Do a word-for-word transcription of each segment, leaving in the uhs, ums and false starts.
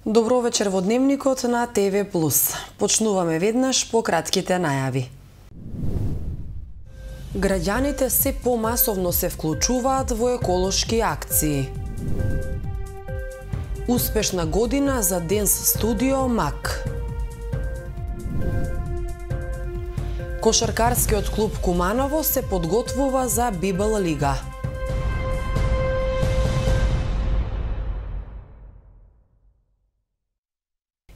Добро вечер во Дневникот на ТВ Плюс. Почнуваме веднаш по кратките најави. Граѓаните се помасовно се вклучуваат во еколошки акции. Успешна година за Денс студио МАК. Кошаркарскиот клуб Куманово се подготвува за Библ лига.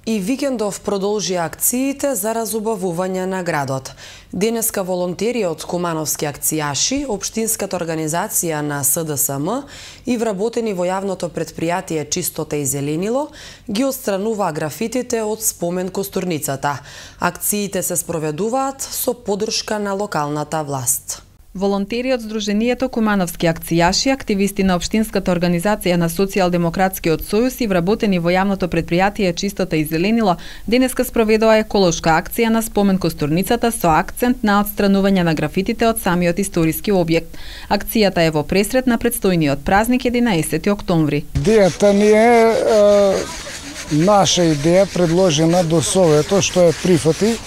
И викендов продолжи акциите за разубавување на градот. Денеска волонтери од кумановски акцијаши, општинската организација на С Д С М и вработени во јавното претпријатие Чистота и зеленило ги отстрануваа графитите од спомен костурницата. Акциите се спроведуваат со поддршка на локалната власт. Волонтери од Сдруженијето Кумановски акцијаши, активисти на општинската организација на Социјалдемократскиот сојуз и вработени во јавното претпријатие Чистота и зеленило денеска спроведоа еколошка акција на спомен костурницата со акцент на отстранување на графитите од самиот историски објект. Акцијата е во пресрет на предстојниот празник единаесети октомври. Идејата ни е, е наша идеја предложена до Совето, што е прифати.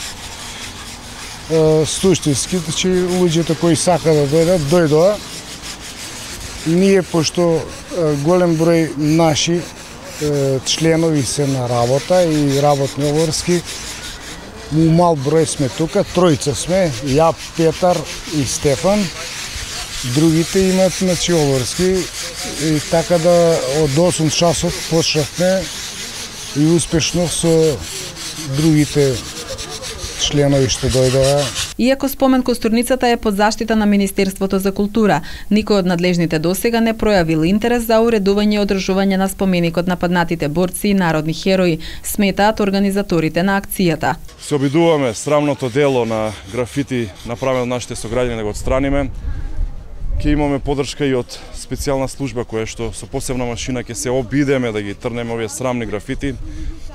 Суштински, че луѓето кои сака да дојдат, дојдоа. Ние, пошто голем број наши членови се на работа и работни обврски, мал број сме тука, тројца сме, ја, Петар и Стефан. Другите имаат значи обврски и така да од осум часот почнавме и успешно со другите членови што дојдоа. Иако спомен костурницата е под заштита на Министерството за култура, никој од надлежните досега не пројавил интерес за уредување и одржување на споменикот на паднатите борци и народни херои, сметаат организаторите на акцијата. Се обидуваме срамното дело на графити направено од нашите сограѓани да го отстраниме. Ќе имаме поддршка и од специјална служба која што со посебна машина ќе се обидеме да ги трнеме овие срамни графити.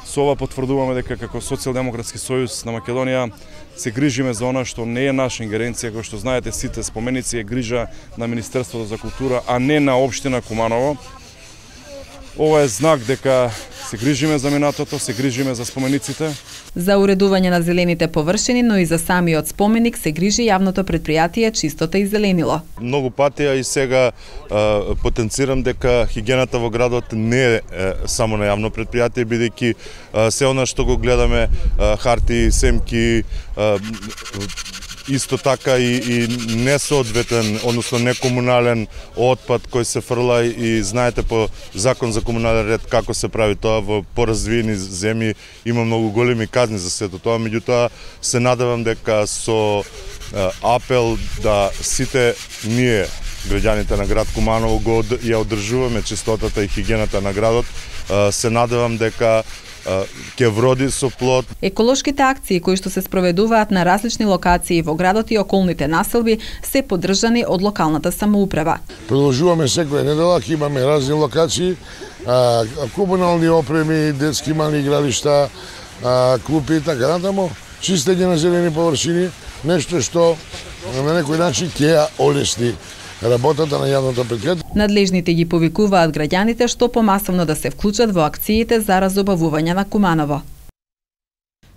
Со ова потврдуваме дека како Социјалдемократски сојуз на Македонија се грижиме за она што не е наша ингеренција, кој што знаете сите споменици е грижа на Министерството за култура, а не на општина Куманово. Ова е знак дека се грижиме за минатото, се грижиме за спомениците. За уредување на зелените површини, но и за самиот споменик се грижи јавното претпријатие Чистота и зеленило. Многу пати, а и сега а, потенцирам дека хигиената во градот не е, е само на јавно претпријатие, бидејќи се она што го гледаме, а, харти, семки, а, исто така и, и несоодветен, односно некомунален отпад кој се фрла и знаете по закон за комунален ред како се прави тоа во поразвиени земји има многу големи казни за сето тоа, меѓутоа се надевам дека со апел да сите ние граѓаните на град Куманово го ја одржуваме чистотата и хигиената на градот, се надевам дека ќе вроди со плод. Еколошките акции кои што се спроведуваат на различни локации во градот и околните населби се поддржани од локалната самоуправа. Продолжуваме секоја недела, имаме разни локации, а, комунални опреми, детски мали игралишта, а, клупи и така натаму, чистење на зелени површини, нешто што на некој начин ќе ја олесни работата на јавното претпријатие. Надлежните ги повикуваат граѓаните што помасовно да се вклучат во акциите за разубавување на Куманово.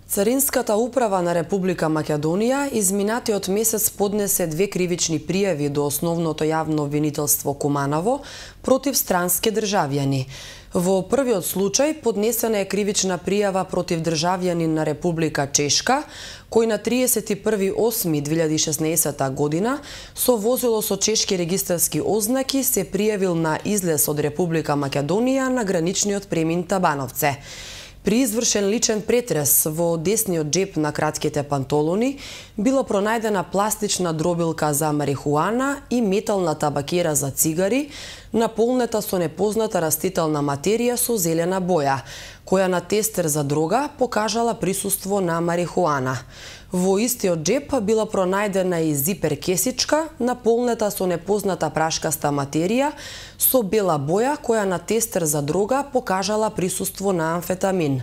Царинската управа на Република Македонија изминатиот месец поднесе две кривични пријави до основното јавно обвинителство Куманово против странски државјани. Во првиот случај поднесена е кривична пријава против државјанин на Република Чешка, кој на триесет и први осми две илјади и шеснаесета година со возило со чешки регистарски ознаки се пријавил на излез од Република Македонија на граничниот премин Табановце. При извршен личен претрес во десниот џеп на кратките пантолони била пронајдена пластична дробилка за марихуана и метална табакера за цигари, наполнета со непозната растителна материја со зелена боја, која на тестер за дрога покажала присуство на марихуана. Во истиот џеп била пронајдена и зипер кесичка, наполнета со непозната прашкаста материја, со бела боја која на тестер за дрога покажала присуство на амфетамин.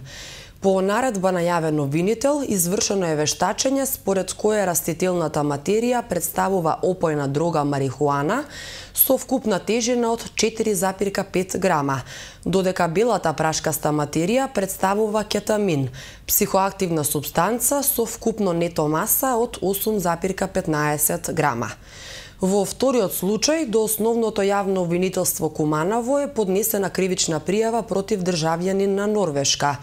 По наредба на јавен обвинител, извршено е вештачење според кое растителната материја представува опојна дрога марихуана со вкупна тежина од четири запирка пет грама, додека белата прашкаста материја представува кетамин, психоактивна супстанца со вкупно нето маса од осум запирка петнаесет грама. Во вториот случај, до основното јавно обвинителство Куманово е поднесена кривична пријава против државјанин на Норвешка,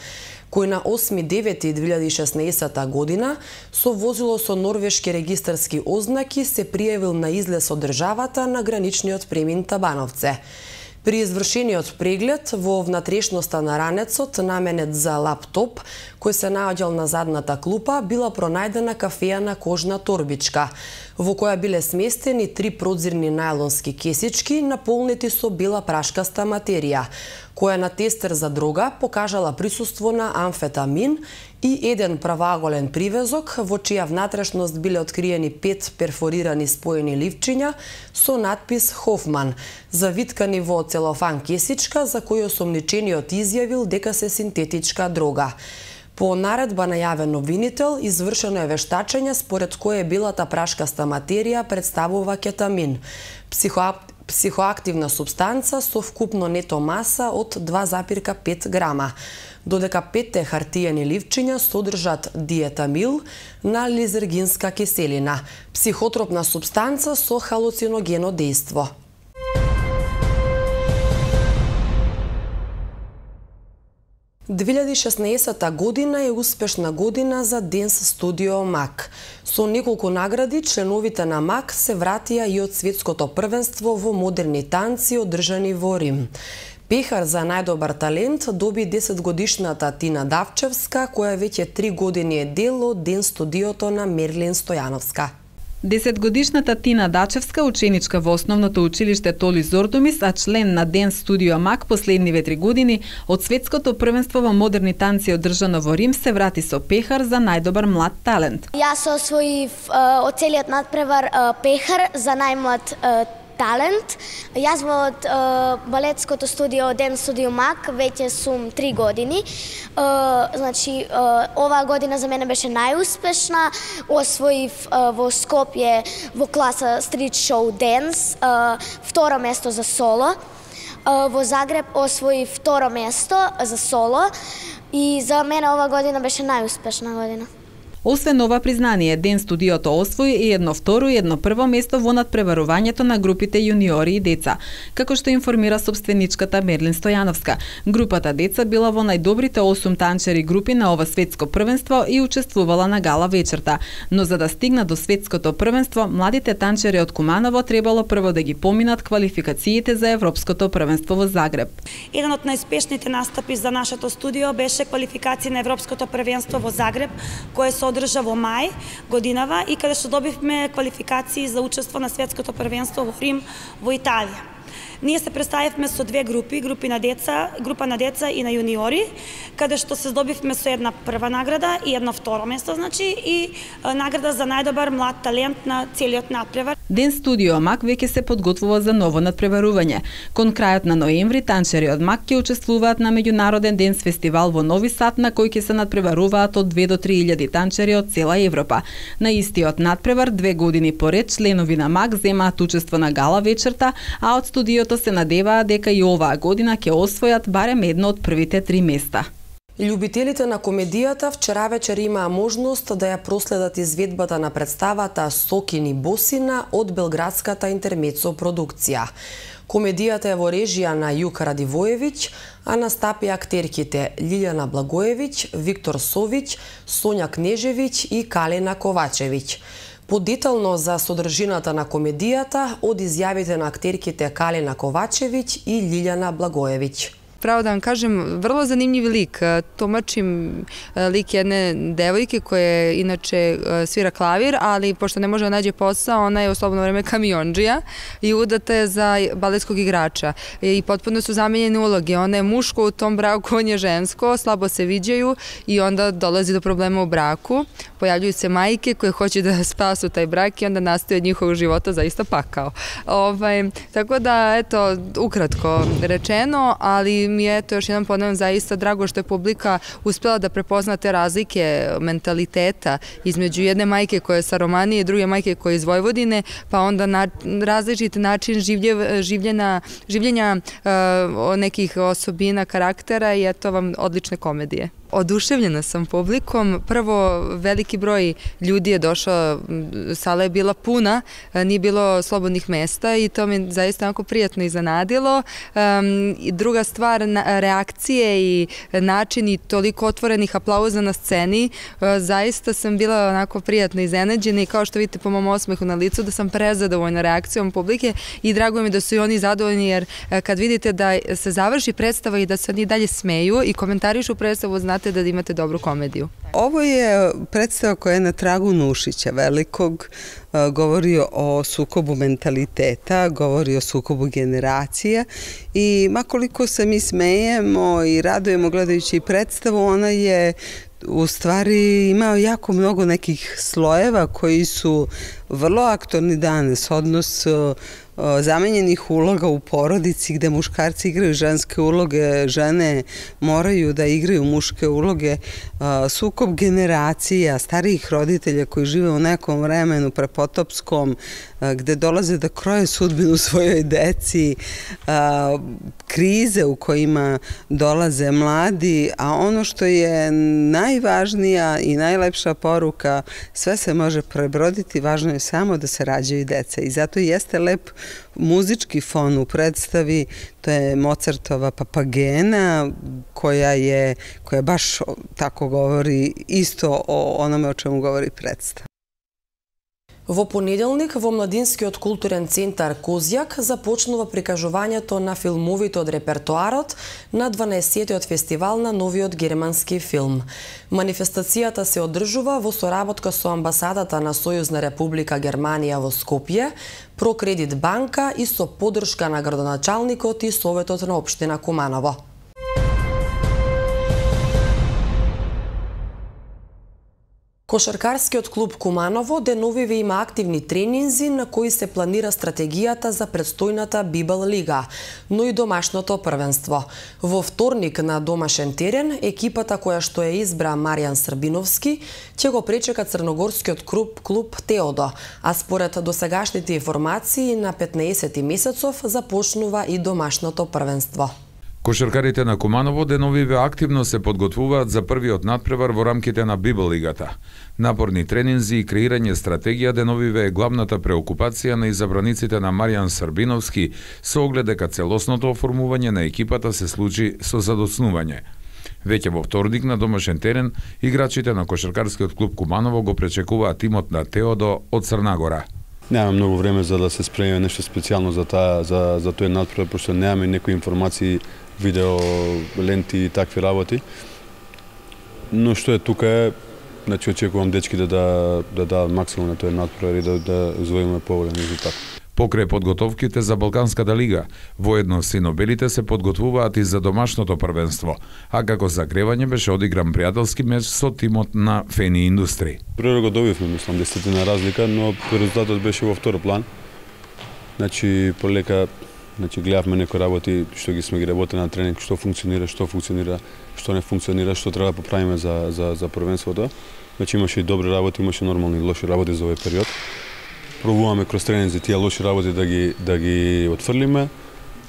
кој на осми девети две илјади и шеснаесета година со возило со норвешки регистарски ознаки се пријавил на излез од државата на граничниот премин Табановце. При извршениот преглед во внатрешноста на ранецот, наменет за лаптоп, кој се наоѓал на задната клупа, била пронајдена кафејана кожна торбичка, во која биле сместени три продзирни најлонски кесички наполнети со бела прашкаста материја, која на тестер за дрога покажала присуство на амфетамин и еден правоаголен привезок, во чија внатрешност биле откриени пет перфорирани споени ливчиња со надпис Хофман, завиткани во целофан кесичка за кој осомничениот изјавил дека се синтетичка дрога. По наредба на јавен обвинител, извршено е вештачење според кое белата прашкаста материја представува кетамин, психоактивна психоактивна субстанца со вкупно нето маса од два запирка пет грама, додека петте хартиени ливчиња содржат диетамил на лизергинска киселина, психотропна субстанца со халуциногено дејство. две илјади и шеснаесета година е успешна година за Денс Студио МАК. Со неколку награди, членовите на МАК се вратија и од светското првенство во модерни танци одржани во Рим. Пехар за најдобар талент доби десетгодишната Тина Давчевска, која веќе три години е дел од Денс Студиото на Мерлин Стојановска. Десетгодишната Тина Дачевска, ученичка во основното училиште Толи Зордумис, а член на Денс Студио МАК последниве три години, од светското првенство во модерни танци одржано во Рим, се врати со пехар за најдобар млад талент. Јас освоив од целиот надпревар пехар за најмлад талент. Јас во uh, балетското студио Денс Студио МАК веќе сум три години. Uh, значи, uh, оваа година за мене беше најуспешна. Освоив uh, во Скопје во класа Street Show Dance uh, второ место за соло. Uh, во Загреб освоив второ место за соло. И за мене оваа година беше најуспешна година. Освен ова признание, Денс Студиото освои и едно второ и едно прво место во надпреварувањето на групите јуниори и деца. Како што информира собственичката Мерлин Стојановска, групата деца била во најдобрите осум танчери групи на ова светско првенство и учествувала на гала вечерта. Но за да стигнат до светското првенство, младите танчери од Куманово требало прво да ги поминат квалификациите за европското првенство во Загреб. Еден од најуспешните настапи за нашето студио беше квалификација на европското првенство во Загреб, кое се одржа во мај годинава и каде што добивме квалификации за учество на светското првенство во Рим во Италија. Ние се представивме со две групи, групи на деца, група на деца и на јуниори, каде што се здобивме со една прва награда и едно второ место, значи, и награда за најдобар млад талент на целиот надпревар. Денс Студио МАК веќе се подготвува за ново надпреварување. Кон крајот на ноември танчери од МАК ќе учествуваат на меѓународен денс фестивал во Нови Сад, на кој ќе се надпреваруваат од две до три илјади танчери од цела Европа. На истиот надпревар две години поред членови на МАК земаат учество на гала вечерта, а од студиото се надеваат дека и оваа година ќе освојат барем едно од првите три места. Љубителите на комедијата вчера вечер имаа можност да ја проследат изведбата на представата Сокини Босина од белградската Интермецо продукција. Комедијата е во режија на Јука Радивоевиќ, а настапи актерките Лилјана Благоевиќ, Виктор Совиќ, Сонја Кнежевиќ и Калина Ковачевиќ. Подетално за содржината на комедијата од изјавите на актерките Калина Ковачевиќ и Лилјана Благоевиќ. Право да вам кажем, vrlo zanimljiv lik. Tumačim lik jedne devojke koja inače svira klavir, ali pošto ne može da nađe posao, ona je u slobodno vreme kamiondžija i udata je za baletskog igrača. I potpuno su zamenjene uloge. Ona je muško u tom braku, on je žensko, slabo se viđaju i onda dolazi do problema u braku. Pojavljuju se majke koje hoće da spasu taj brak i onda nastaje od njihovog života zaista pakao. Ovaj, tako da, eto, ukratko rečeno, ali mi je, to još jedan ponavljam, zaista drago što je publika uspjela da prepozna te razlike mentaliteta između jedne majke koja je sa Romanije i druge majke koja je iz Vojvodine, pa onda na, različit način življe, življena, življenja uh, nekih osobina, karaktera i eto vam odlične komedije. Oduševljena sam publikom. Prvo, veliki broj ljudi je došao, sala je bila puna, nije bilo slobodnih mesta i to mi zaista onako prijatno iznenadilo. Um, druga stvar, na, reakcije i način i toliko otvorenih aplauza na sceni, uh, zaista sam bila onako prijatno iznenađena i kao što vidite po mom osmehu na licu da sam prezadovoljna reakcijom publike i drago mi da su i oni zadovoljni jer uh, kad vidite da se završi predstava i da se oni dalje smeju i komentarišu predstavu, znate da imate dobru komediju. Ovo je predstava koja je na tragu Nušića velikog, govori o sukobu mentaliteta, govori o sukobu generacija i makoliko se mi smejemo i radujemo gledajući predstavu, ona je u stvari imao jako mnogo nekih slojeva koji su vrlo aktualni danas, odnos zamenjenih uloga u porodici gde muškarci igraju ženske uloge, žene moraju da igraju muške uloge, sukob generacija, starijih roditelja koji žive u nekom vremenu prepotopskom, gde dolaze da kroje sudbinu svojoj deci, krize u kojima dolaze mladi, a ono što je najvažnija i najlepša poruka, sve se može prebroditi, važno je samo da se rađaju deca i zato jeste lep muzički fon u predstavi, to je Mozartova Papagena koja je, koja baš tako govori isto o onome o čemu govori predstava. Во понеделник во Младинскиот културен центар Козјак започнува прикажувањето на филмовите од репертоарот на дванаесеттиот фестивал на новиот германски филм. Манифестацијата се одржува во соработка со амбасадата на Сојузна република Германија во Скопје, Прокредит банка и со поддршка на градоначалникот и Советот на општина Куманово. Кошаркарскиот клуб Куманово деновиве има активни тренинзи на кои се планира стратегијата за предстојната Бибел лига, но и домашното првенство. Во вторник на домашен терен, екипата која што е избра Маријан Србиновски ќе го пречека црногорскиот клуб, клуб Теодо, а според досегашните информации на петнаесети месецов започнува и домашното првенство. Кошаркарите на Куманово деновиве активно се подготвуваат за првиот надпревар во рамките на Бибел лигата. Напорни тренинзи и креирање стратегија деновиве е главната преокупација на изабраниците на Маријан Србиновски со оглед дека целосното оформување на екипата се случи со задоцнување. Веќе во вторник на домашен терен, играчите на Кошаркарскиот клуб Куманово го пречекуваат тимот на Теодо од Црнагора. Немаме многу време за да се спремиме нешто специјално за таа за за тој надпревар, пошто немаме некои информации, видео, ленти и такви работи. Но што е тука е, значи очекувам дечки да да да дадат максимум на тој надпревар и да да извоиме поголем резултат. Покрај подготовките за Балканската лига, воедно синобелите се подготвуваат и за домашното првенство, а како загревање беше одигран пријателски меч со тимот на Фени Индустри. Прво го добивме, мислам, десетина разлика, но резултатот беше во втор план. Значи, полека, значи, гледавме некои работи, што ги сме ги работели на тренинг, што функционира, што функционира, што не функционира, што треба да поправиме за, за, за првенството. Значи, имаше и добри работи, имаше нормални и лоши работи за овој период. Пробуваме кроз тренинзи тие лоши работи да ги да ги отфрлиме,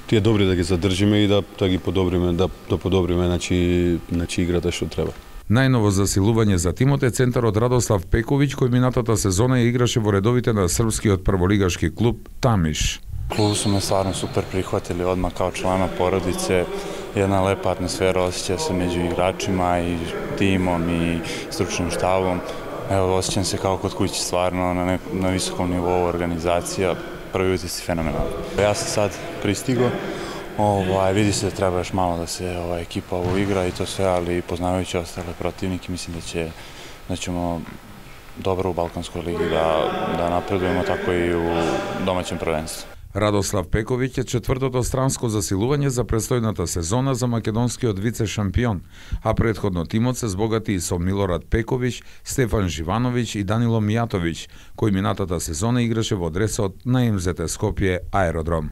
тие добри да ги задржиме и да да ги подобриме, да да подобриме значи значи играта што треба. Најново засилување за тимот е центарот Радослав Пековиќ, кој минатата сезона ја играше во редовите на српскиот прволигашки клуб Тамиш. Клуб су ме стварно супер прихватили одма као члана породице, една лепа атмосфера осеќа се меѓу играчима и тимом и стручним штабом. Ево, осjećam se kao kod kući, stvarno na, ne, na visokom nivou organizacija, prvi utisci fenomenalni. Ja sam sad pristigo, ovaj, vidi se da treba još malo da se ovaj, ekipa uigra i to sve, ali poznavajući ostale protivnike, mislim da, će, da ćemo dobro u Balkanskoj ligi da, da napredujemo, tako i u domaćem prvenstvu. Радослав Пековиќ е четвртото странско засилување за престојната сезона за македонскиот вице-шампион, а претходно тимот се збогати и со Милорад Пековиќ, Стефан Живановиќ и Данило Мијатовиќ, кој минатата сезона играше во дресот на Ем Зет Скопје Аеродром.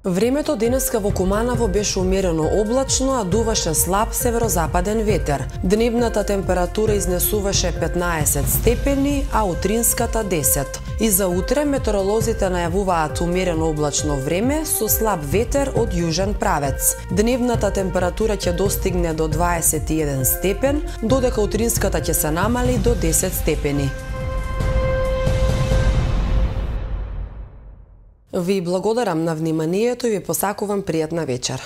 Времето денеска во Куманово беше умерено облачно, а дуваше слаб северозападен ветер. Дневната температура изнесуваше петнаесет степени, а утринската десет. И за утре метеоролозите најавуваат умерено облачно време со слаб ветер од јужен правец. Дневната температура ќе достигне до дваесет и еден степен, додека утринската ќе се намали до десет степени. Ви благодарам на вниманието и ви посакувам пријатна вечер.